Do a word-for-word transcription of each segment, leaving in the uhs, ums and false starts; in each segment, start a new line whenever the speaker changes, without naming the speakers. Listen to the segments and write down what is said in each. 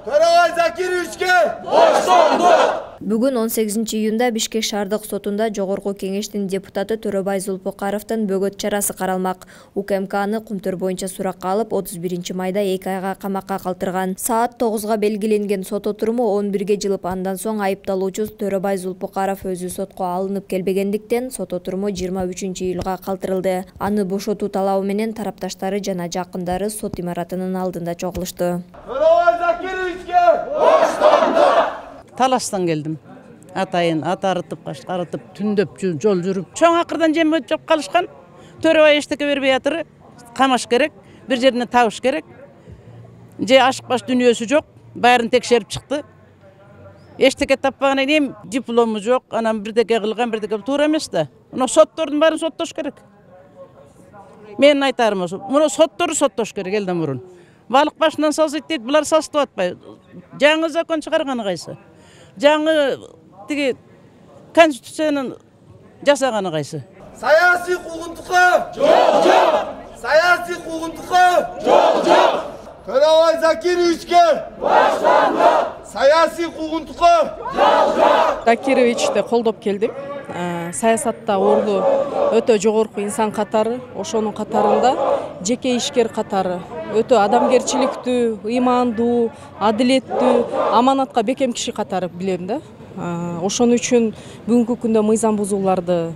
Төрагай Закировичке боштондук.
Бүгүн он сегизинчи июнда Бишкек шаардык сотунда Жогорку кеңештин депутаты Төрөбай Зулпукаровдун бөгөт чарасы каралмак. УКМК аны кумтөр боюнча суракка алып, отуз биринчи майда эки айга камакка калтырган. Саат тогузга белгиленген сот отуруму он бирге жылып, андан соң айыпталуучу Төрөбай Зулпукаров өзү сотко алынып келбегендиктен сот отуруму жыйырма үчүнчү июлга калтырылды. Аны бошотуу талабы менен тарапташтары жана жакындары сот имаратынын алдында чогулушту.
Төрагай Закировичке боштондук.
Таластан келдим. Атайын ат арытып, арытып, түндөп жол жүрүп, чоң акырдан жем өтүп калышкан. Төрөбай эчтеке бербей атыр, камаш керек, бир жерине табыш керек. Же ашык баш дүнүйөсү жок, баарын текшерип чыкты. Эчтеке таппагандан кийин диплому жок, анан бирдеке кылган, бирдеке туура эмес да. Мына соттордун баарын соттош керек. Менин айтарым ошо. Мына сотторду соттош керек элден мурун. Балык башынан салсайт дейт, булар салыстып атпай. Жаңы закон чыгарганы кайсы? Жаңы тиги конституциянын жасаганы кайсы?
Саясий куугунтукка жок, жок. Саясий куугунтукка жок, жок. Төрагай Закировичке боштондук. Саясий куугунтукка жок, жок.
Закировичти колдоп келдим. Саясатта орду өтө жогорку инсан катары, ошонун катарында жеке ишкер катары өтө адамгерчиликтүү, ыймандуу, адилеттүү, аманатка бекем киши катары билем да. Ошон үчүн бүгүнкү күндө мыйзам бузууларга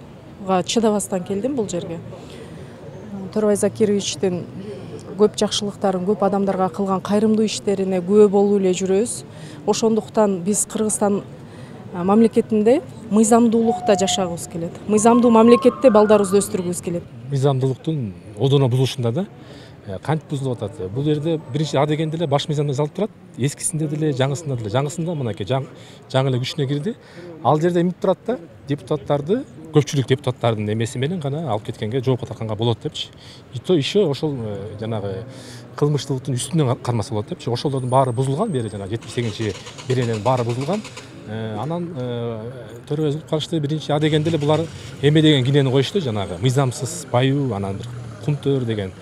чыдабастан келдим бул жерге. Төрөбай Закировичтин көп жакшылыктарын, көп адамдарга кылган кайрымдуу иштерине күбө болуп эле жүрөбүз. Ошондуктан биз Кыргызстан мамлекетинде мыйзамдуулукта жашагыбыз келет. Мыйзамдуу мамлекетте балдарыбызды өстүргүбүз келет.
Мыйзамдуулуктун одоно бузулушунда да кантип бузулуп атат? Бул жерде биринчи А дегенде эле баш мыйзамда жазылып турат. Эскисинде деле, жаңысында деле. Жаңысында мынакей жаңы эле күчүнө кирди. Ал жерде эмип турат да, депутаттарды, көпчүлүк депутаттардын эмеси менен гана алып кеткенге, жоопко тартканга болот депчи. И то еще ошол жанагы кылмыштуулуктун үстүнөн кармаса болот депчи. Ошолордун баары бузулган, бери жана жетимиш сегизинчи берененин баары бузулган. Анан Төрөбай Зулпукаровду биринчи А дегенде эле булар эме деген кинени коюшту, жанагы мыйзамсыз баюу, анан бир кумтөр деген.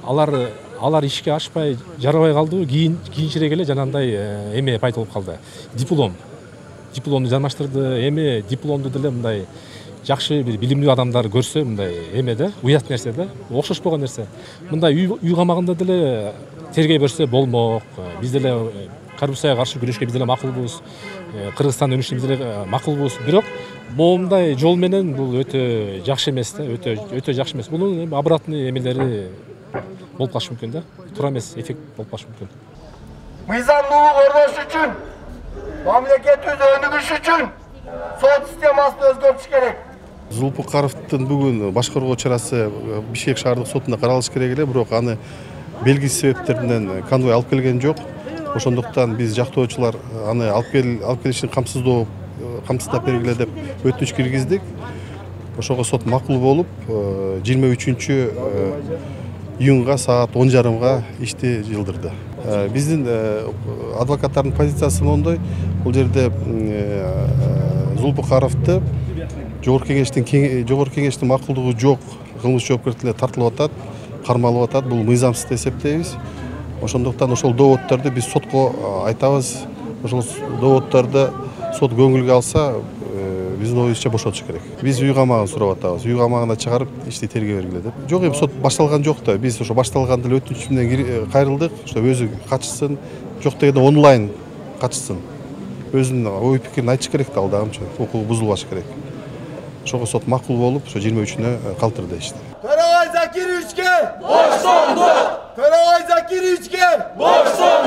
Алар алар ишке ашпай, жарабай калдыбы, кийин кийинчерээк эле жанагындай эме пайда болуп калды. Диплом. Дипломду жармаштырды, эме дипломду деле мындай жакшы бир билимдүү адамдар көрсө, мындай эме да, уят нерсе да, окшошпогон нерсе. Мындай үй камагында деле тергей берсе болмок. Биз деле коррупцияга каршы күрөшкө биз деле макулбуз. Кыргызстан өнүшүнө биз деле макулбуз. Бирок моундай жол менен бул өтө жакшы эмес да, өтө өтө жакшы эмес. Бунун эми обратный эмелери болуп калышы мүмкүн да. Туура эмес эффект болуп калышы мүмкүн.
Мыйзамдуулук орнош үчүн, мамлекетибиз өнүгүш үчүн сот системасын өзгөртүш керек.
Зулпукаровдун бүгүн башкаруу чарасы Бишкек шаардык сотунда каралыш керек эле, бирок аны белгисиз себептерден конвой алып келген жок. Ошондуктан биз жактоочулар аны алып кел алып келишин камсыздоо камсыздап бергиле деп өтүнүч киргиздик. Ошого сот макул болуп, жыйырма үчүнчү июнга саат он жарымга ишти жылдырды. Биздин адвокаттардын позициясы мондой: бул жерде Зулпукаровду жогорку кеңештин жогорку кеңештин макулдугу жок кылмыш жоопкерчиликке тартылып атат, кармалып атат. Бул мыйзамсыз деп эсептейбиз. Ошондуктан ошол доводдорду биз сотко айтабыз. Ошол доводдорду сот көңүлгө алса, биздин оюбузча бошотуш керек. Биз үй камагын сурап атабыз. Үй камагына чыгарып, ишти тергей бергиле деп. Жок, эми сот башталган жок да. Биз ошо башталган деле өтүнүч менен кайрылдык. Ошо өзү катышсын, жок дегенде онлайн катышсын. Өзүнүн ой пикирин айтыш керек да, ал дагычы укугу бузулбаш керек. Ошого сот макул болуп, ошо жыйырма үчүнө калтырды ишти.
Төрагай Закировичке боштондук. Төрагай Закировичке боштондук.